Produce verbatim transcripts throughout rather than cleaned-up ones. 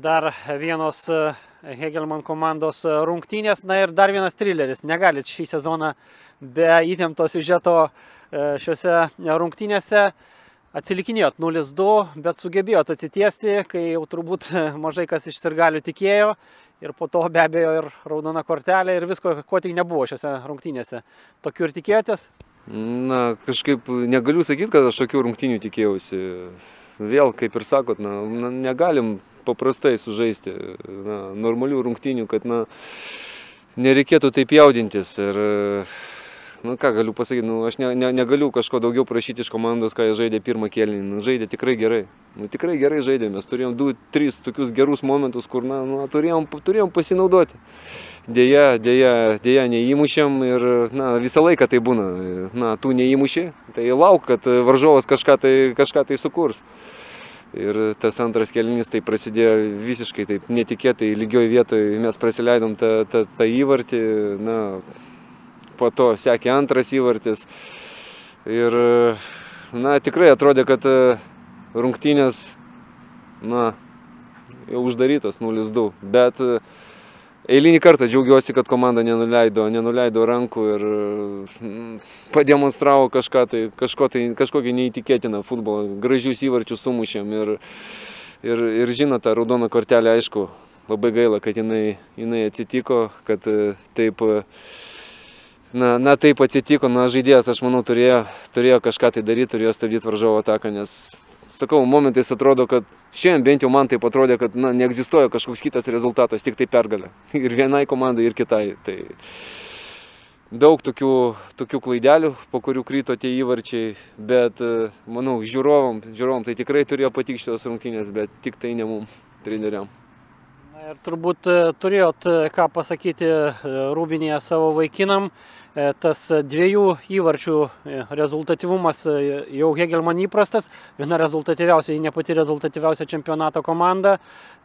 Dar vienos Hegelmann komandos rungtynės, na ir dar vienas trileris. Negalit šį sezoną be įtempto siužeto šiuose rungtynėse. Atsilikinėjot nulis du, bet sugebėjot atsitiesti, kai jau turbūt mažai kas iš sirgalių tikėjo. Ir po to be abejo ir raudona kortelė ir visko, ko tik nebuvo šiuose rungtynėse. Tokių ir tikėjotės? Na, kažkaip negaliu sakyti, kad aš tokių rungtynių tikėjausi. Vėl, kaip ir sakot, na, na, negalim paprastai sužaisti na, normalių rungtynių, kad na, nereikėtų taip jaudintis. Ir, nu, ką galiu pasakyti, nu, aš ne, ne, negaliu kažko daugiau prašyti iš komandos, ką jie žaidė pirmą kėlinį. Nu, žaidė tikrai gerai. Nu, tikrai gerai žaidė. Mes turėjom du, tris tokius gerus momentus, kur na, nu, turėjom, turėjom pasinaudoti. Deja, deja, deja neįmušėm ir na, visą laiką tai būna. Na, tu neįmuši, tai lauk, kad varžovas kažką tai, kažką tai sukurs. Ir tas antras kėlinys tai prasidėjo visiškai taip netikėtai, lygioj vietoje mes prasileidom tą, tą, tą įvartį, na, po to sekė antras įvartis. Ir na, tikrai atrodė, kad rungtynės na, jau uždarytos nulis du, bet eilinį kartą džiaugiuosi, kad komanda nenuleido, nenuleido rankų ir pademonstravo kažką tai, kažko tai, kažkokį neįtikėtiną futbolą. Gražius įvarčius sumušėm ir, ir, ir žinot, tą raudoną kortelę, aišku, labai gaila, kad jinai, jinai atsitiko, kad taip, na, na, taip atsitiko. Na, žaidėjas, aš manau, turėjo, turėjo kažką tai daryti, turėjo stabdyti varžovo ataką, nes sakau, momentais atrodo, kad šiandien bent jau man taip atrodė, kad na, neegzistuoja kažkoks kitas rezultatas, tik tai pergalė. Ir vienai komandai, ir kitai. Tai daug tokių, tokių klaidelių, po kurių kryto tie įvarčiai, bet manau, žiūrovom, žiūrovom tai tikrai turėjo patikti šitos rungtynės, bet tik tai ne mum, treneriam. Na ir turbūt turėjot ką pasakyti Rūbinėje savo vaikinam. Tas dviejų įvarčių rezultatyvumas jau Hegelmann įprastas, viena rezultatyviausia, ne pati rezultatyviausia čempionato komanda,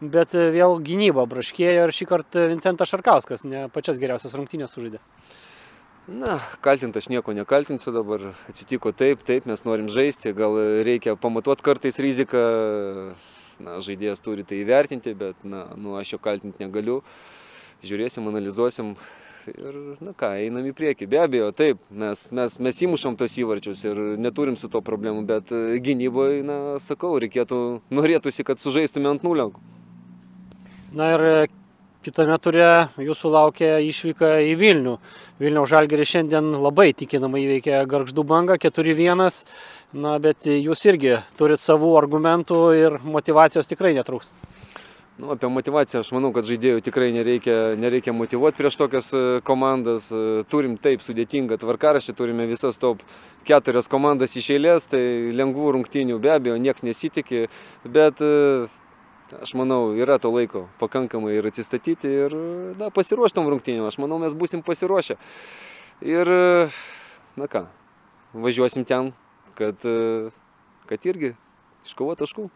bet vėl gynyba braškėjo ir šį kartą Vincentas Šarkauskas ne pačias geriausias rungtynės sužaidė. Na, kaltint aš nieko nekaltinsiu dabar, atsitiko taip, taip, mes norim žaisti, gal reikia pamatuoti kartais riziką, na, žaidėjas turi tai įvertinti, bet na, nu, aš jo kaltinti negaliu, žiūrėsim, analizuosim. Ir, na ką, einam į priekį. Be abejo, taip, mes, mes, mes įmušam tos įvarčius ir neturim su to problemų, bet gynyboje, na, sakau, reikėtų, norėtųsi, kad sužaistume ant nulio. Na ir kitame ture jūsų laukia išvyka į Vilnių. Vilniaus Žalgiris šiandien labai tikinamai įveikė Gargždų Bangą, keturi vienas, na, bet jūs irgi turit savų argumentų ir motyvacijos tikrai netrūks. Nu, apie motivaciją aš manau, kad žaidėjų tikrai nereikia, nereikia motyvuoti prieš tokias komandas. Turim taip sudėtingą tvarkaraštį, turime visas top keturias komandas iš eilės, tai lengvų rungtynių be abejo nieks nesitikė, bet aš manau, yra to laiko pakankamai ir atsistatyti ir na, pasiruoštom rungtynėm. Aš manau, mes būsim pasiruošę. Ir, na ką, važiuosim ten, kad, kad irgi iškovo taškų.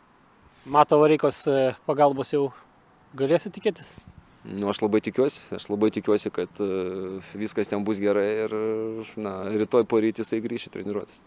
Mato Vareikos pagalbos jau galėsit tikėtis? Nu, aš labai tikiuosi, aš labai tikiuosi, kad viskas ten bus gerai ir na, rytoj poryt jisai grįš į treniruotis.